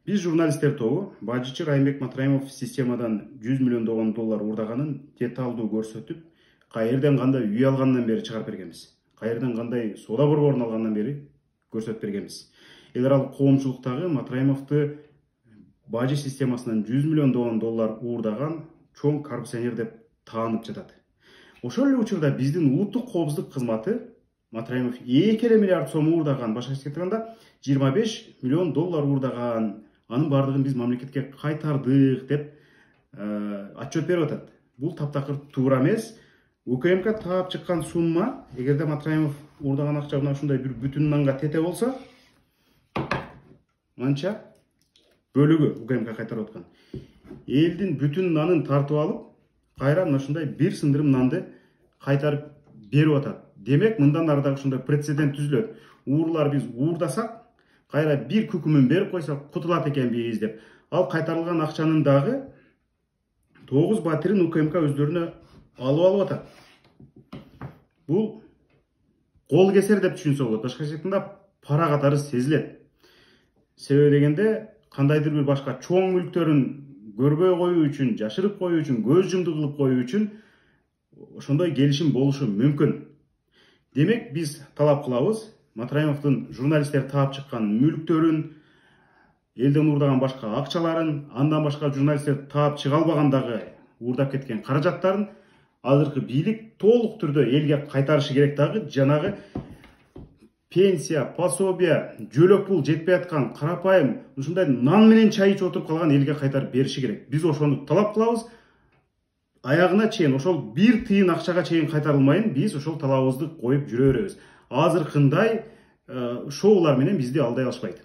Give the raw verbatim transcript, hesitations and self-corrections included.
Биз журналисттер тобу бажычы Райымбек Матраимов системадан жүз миллиондогон доллар уурдаганын деталдуу көрсөтүп, каерден кандай үй алгандан бери чыгарып бергенбиз. Каерден кандай соода борборун алгандан бери көрсөтүп бергенбиз. Эл аралык коомчулуктагы Матраимовду бажы системасынан жүз миллиондогон доллар уурдаган чоң коррупционер деп таанып жатат. Ошол эле учурда биздин улуттук коопсуздук кызматы Матраимов эки эле миллиард сом уурдаган, башкача айтканда жыйырма беш миллион доллар уурдаган, анын бардыгын биз мамлекетке кайтардык деп отчет берип атат. Бул таптакыр туура эмес. УКМК таап чыккан сумма, эгерде Матраимов уурдаган акча мына ушундай бир бүтүн нанга тете болсо, манча бөлүгү УКМК кайтарып аткан. Элдин бүтүн нанын тартып алып, кайра мына ушундай бир сындырым нанды кайтарып берип атат. Демек, мындан ары дагы ушундай прецедент түзүлөт. Уурлар биз уурдасак, кайра бир күкүмүн берип койсок, кутулат экенбиз деп. Ал кайтарылган акчанын дагы тогуз батирин УКМК өздөрүнө алып алып атат. Бул кол кесер деп түшүнсө болот. Башкача айтканда пара катары сезилет. Себеби дегенде, кандайдыр бир башка чоң мүлктөрүн көрбөй коюу үчүн, жашырып коюу үчүн, көз жумду кылып коюу үчүн ошондой келишим болушу мүмкүн. Демек, биз талап кылабыз, Матраимовдун журналисттер таап чыккан мүлктөрүн, элден уурдаган башка акчаларын, андан башка журналисттер таап чыга албагандагы уурдап кеткен каражаттарын азыркы бийлик толук түрдө элге кайтарышы керек. Дагы жанагы пенсия, пособия, жөлөк пул жетпей аткан карапайым ушундай нан менен чай ичип отуруп калган элге кайтарып бериши керек. Биз ошону талап кылабыз. Аягына чейин, ошол бир тыйын акчага чейин кайтарылмайын, биз ошол талабыбызды коюп жүрө беребиз. Азыркындай шоулар менен бизди алдай алышпайт.